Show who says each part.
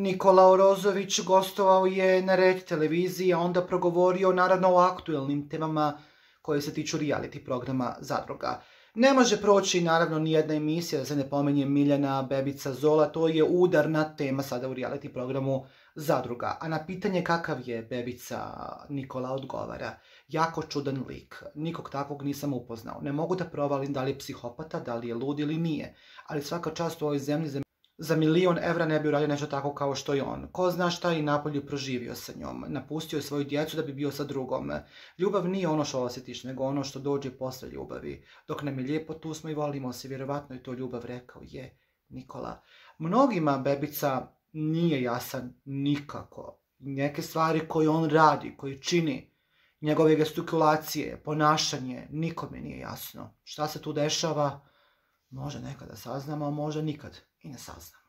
Speaker 1: Nikola Orozović gostovao je na Red televiziji, a onda progovorio naravno o aktuelnim temama koje se tiču reality programa Zadruga. Ne može proći naravno nijedna emisija da se ne pomenje Miljana Bebica Zola, to je udarna tema sada u reality programu Zadruga. A na pitanje kakav je Bebica, Nikola odgovara: jako čudan lik, nikog takvog nisam upoznao. Ne mogu da provalim da li je psihopata, da li je lud ili nije, ali svaka čast u ovoj zemlji za 1.000.000 evra ne bi uradio nešto tako kao što je on. Ko zna šta je i napolju proživio sa njom. Napustio je svoju djecu da bi bio sa drugom. Ljubav nije ono što osjetiš, nego ono što dođe posle ljubavi. Dok nam je lijepo, tu smo i volimo se. Vjerovatno je to ljubav, rekao je Nikola. Mnogima Bebica nije jasan nikako. Neke stvari koje on radi, koje čini, njegove gestikulacije, ponašanje, nikome nije jasno. Šta se tu dešava? Može nekada saznamo, a može nikad i ne saznamo.